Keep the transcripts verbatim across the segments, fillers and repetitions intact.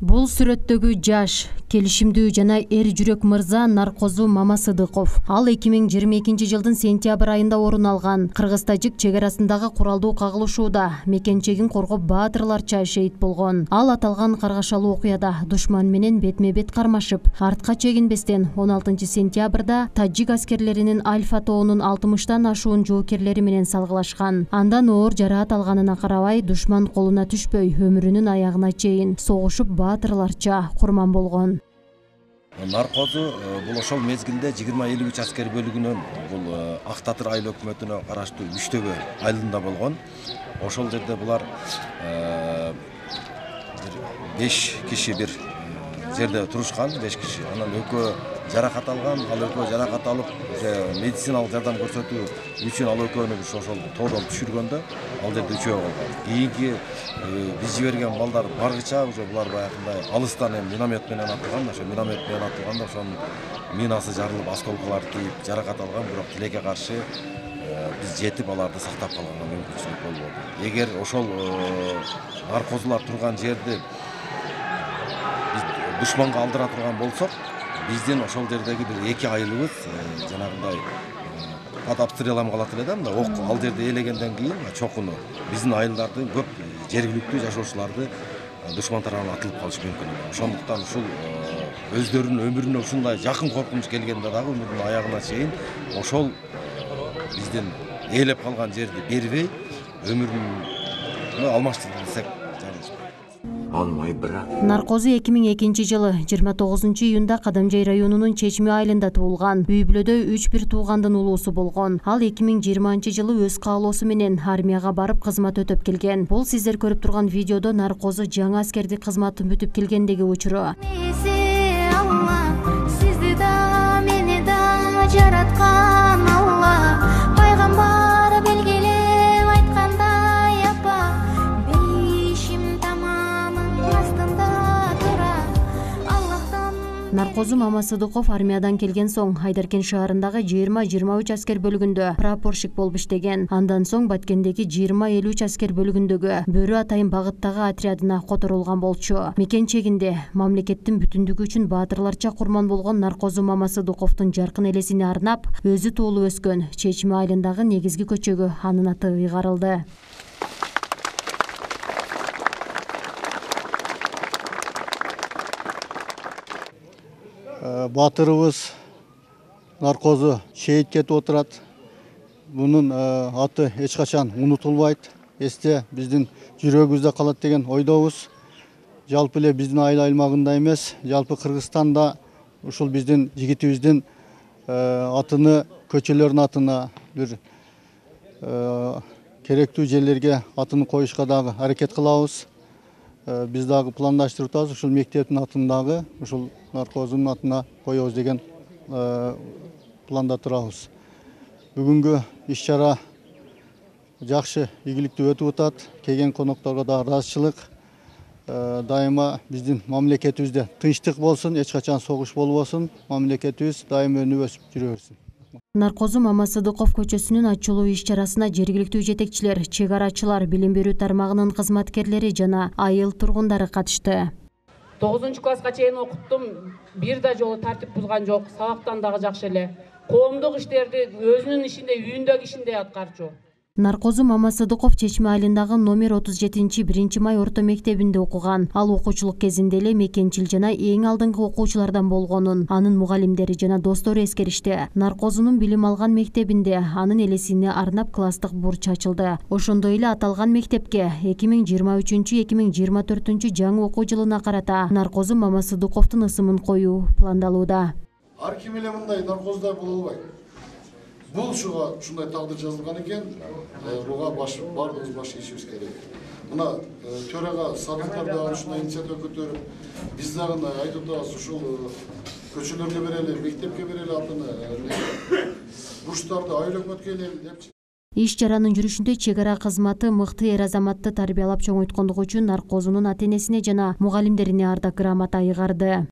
Бул сүрөттөгү жаш, келишимдүү жана эр жүрөк мырза Наркозу Мамасыдыков. Ал эки миң жыйырма экинчи жылдын сентябрь айында орун алган Кыргыз-Тажик чек арасындагы куралдуу кагылышууда мекенчегин коргоп баатырларча шейит болгон. Ал аталган каргашалуу окуяда душман менен бетме-бет кармашып, артка чегинбестен он алтынчы сентябрда тажик аскерлеринин Альфа тоонун алтымыштан ашуун жоокерлери менен салгылашкан. Андан оор жараат алганына карабай, душман колуна түшпөй, өмүрүнүн аягына чейин согушуп баатырларча курман болгон. Наркозу бул ошол мезгилде жыйырма элүү үч аскер бөлүгүнөн бул Ак Татыр айыл өкмөтүнө караштуу Үчтөбө айылында болгон. Ошол жерде булар беш киши бир жерде турушкан, беш киши. Анан экөө жаракат алган, ал экөө жаракат алып, медициналык жардам көрсөтүү үчүн ал экөөнү ошол тоодон түшүргөндө ал жерде үчөө калган. Кийинки биз жиберген балдар баргыча уже булар баягындай алыстан эми миномет менен атылган, ошо миномет менен атылганда ошонун минасы жарылып, осколкалар тийип жаракат алган, бирок тилекке каршы биз жетип аларды сактап калганга мүмкүнчүлүк болбоду. Эгер ошол наркозулар турган жерди биз душманга алдыра турган болсок, биздин ошол жердеги бир эки айылыбыз жанагындай под обстрелом калат эле да, мына ок ал жерде ээлегенден кийин чокуну биздин айылдарды көп жергиликтүү жашоочуларды душман тарабынан атылып калышы мүмкүн. Ошондуктан ушул өздөрүнүн өмүрүнө ушундай жакын коркунуч келгенде дагы өмүрүнүн аягына чейин ошол биздин ээлеп калган жерди бербей өмүрүн алмаштырды десек жаңылышпайт. Наркозу эки миң экинчи жылы жыйырма тогузунчу июнда Кадамжай районунун Чечме айылында туулган. Үй бүлөдө үч бир туугандын улуусу болгон. Ал эки миң жыйырманчы жылы өз каалоосу менен армияга барып кызмат өтөп келген. Бул сиздер көрүп турган видеодо Наркозу жаңы аскердик кызматын бүтүп келгендеги учуру. Сизди да мени да жараткан Алла, пайгамбар белгилеп айткандай апа, бейишим тамамын астында тура Аллахтан. Наркозу Мамасыдыков армиядан келген соң Айдаркен шаарындагы жыйырма жыйырма үч аскер бөлүгүндө прапорщик болуп иштеген. Андан соң Баткендеги жыйырма элүү үч аскер бөлүгүндөгү Бөрү Атайын багыттагы отрядына которулган болчу. Мекенчегинде мамлекеттин бүтүндүгү үчүн баатырларча курман болгон Наркозу Мамасыдыковдун жаркын элесине арнап, өзү туулуп өскөн Чечме айылындагы негизги көчөгө анын аты ыйгарылды. Батырыбыз Наркозу шейит кетип отурат. Мунун аты эч качан унутулбайт. Эсте биздин жүрөгүбүздө калат деген ойдобуз. Жалпы эле биздин айыл аймагында эмес, жалпы Кыргызстанда ушул биздин жигитибиздин атыны, көчөлөрдүн атына бир керектүү жерлерге атын коюшка дагы аракет кылабыз. Биз дагы пландаштырып атабыз, ушул мектептин атын дагы ушул Наркозунун атына коебуз деген планда турабыз. Бүгүнгү иш-чара жакшы, ийгиликтүү өтүп атат. Келген конокторго да ыраазычылык. Дайыма биздин мамлекетибизде тынчтык болсун, эч качан согуш болбосун, мамлекетибиз дайыма өнүп өсүп жүрө берсин. Наркозу Мамасыдыков көчөсүнүн ачылуу иш-чарасына жергиликтүү жетекчилер, чек арачылар, билим берүү тармагынын кызматкерлери жана айыл тургундары катышты. тогузунчу класска чейин окуттум, бир да жолу тартип бузган жок, сабактан дагы жакшы эле. Коомдук иштерди өзүнүн ишинде, үйүндөгү ишинде аткарчу. Наркозу Мамасыдыков Чечме айылындагы номер отуз жетинчи биринчи май орто мектебинде окуган. Ал окуучулук кезинде эле мекенчил жана эң алдыңкы окуучулардан болгонун анын мугалимдери жана достору эскеришти. Наркозунун билим алган мектебинде анын элесине арнап класстык бурч ачылды. Ошондой эле аталган мектепке эки миң жыйырма үчүнчү эки миң жыйырма төртүнчү жаңы окуу жылына карата Наркозу Мамасыдыковдун ысымын коюу пландалууда. Ар ким эле мындай наркоздай боло албайт. Бул ушуга ушундай тагдыр жазылган экен, буга баш бардыгыбыз баш ийишибиз керек. Мына төрага Садыктар дагы ушундай инициатива көтөрүп, биз дагы айтып атабыз, ушул көчөлөргө берели, мектепке берели атыны, буштарды айыл өкмөткө элели депчи. Иш-чаранын жүрүшүндө чек ара кызматы мыкты эр азаматты тарбиялап чоңойткондугу үчүн Наркозунун ата-энесине жана мугалимдерине ардак грамота ыйгарды.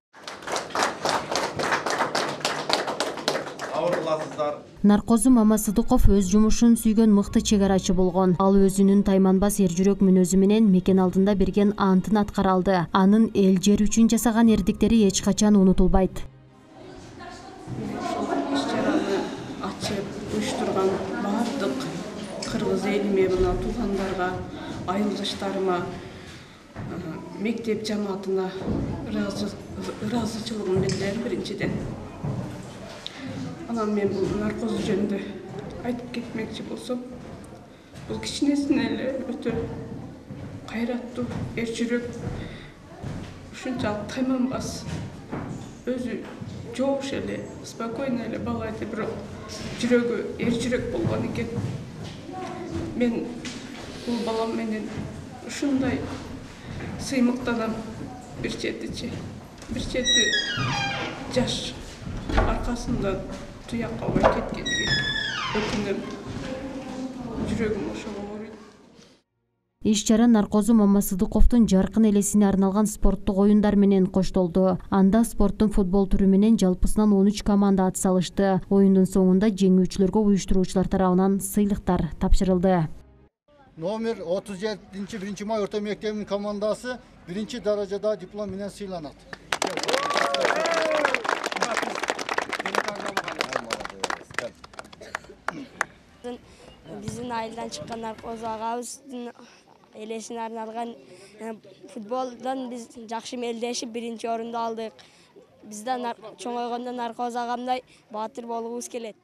сабыр кыласыздар. Наркозу Мамасыдыков өз жумушун сүйгөн мыкты чек арачы болгон. Ал өзүнүн тайманбас эр жүрөк мүнөзү менен мекен алдында берген антын аткара алды. Анын эл жер үчүн жасаган эрдиктери эч качан унутулбайт. Иш-чараны ачып, уюштурган бардык кыргыз элиме, мына туугандарга, айылдыштарыма, мектеп жамаатына ыраазычылыгымды билдирем биринчиден. Анан мен бул наркоз жөнүндө айтып кетмекчи болсом, бул кичинесинен эле өтө кайраттуу, эр жүрөк, ушунчалык тайманбас, өзү жоош эле, спокойно эле бала эди, бирок жүрөгү эр жүрөк болгон экен. Мен бул балам менен ушундай сыймыктанам бир четичи. Бир чети жаш аркасында туякка албай кеткениге өкүнөм. Жүрөгүм ошого ооруйт. Иш-чара Наркозу Мамасыдыковдун жаркын элесине арналган спорттук оюндар менен коштолду. Анда спорттун футбол түрү менен жалпысынан он үч команда ат салышты. Оюндун соңунда жеңүүчүлөргө уюштуруучулар тарабынан сыйлыктар тапшырылды. Номер отуз жетинчи биринчи май орто мектебинин командасы биринчи даражада диплом менен сыйланат. Биздин айылдан чыккан Наркоз агабыздын элесине арналган футболдон биз жакшы мелдешип биринчи орунду алдык. Бизден чоңойгондо Наркоз агамдай баатыр болгубуз келет.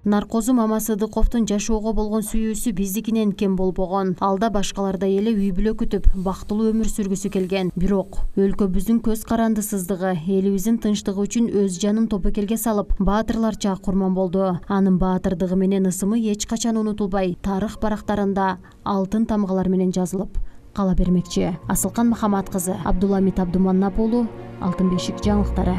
Наркозу Мамасыдыковдун жашоого болгон сүйүүсү биздикинен кем болбогон. Алда башкалардай эле үй бүлө күтүп, бактылуу өмүр сүргүсү келген. Бирок өлкөбүздүн көз карандысыздыгы, элибиздин тынчтыгы үчүн өз жанын топокелге салып, баатырларча курман болду. Анын баатырдыгы менен ысымы эч качан унутулбай, тарых барактарында алтын тамгалар менен жазылып кала бермекчи. Асылкан Махамат кызы, Абдуламит Абдуманнап уулу, Алтын бешик жаңылыктары.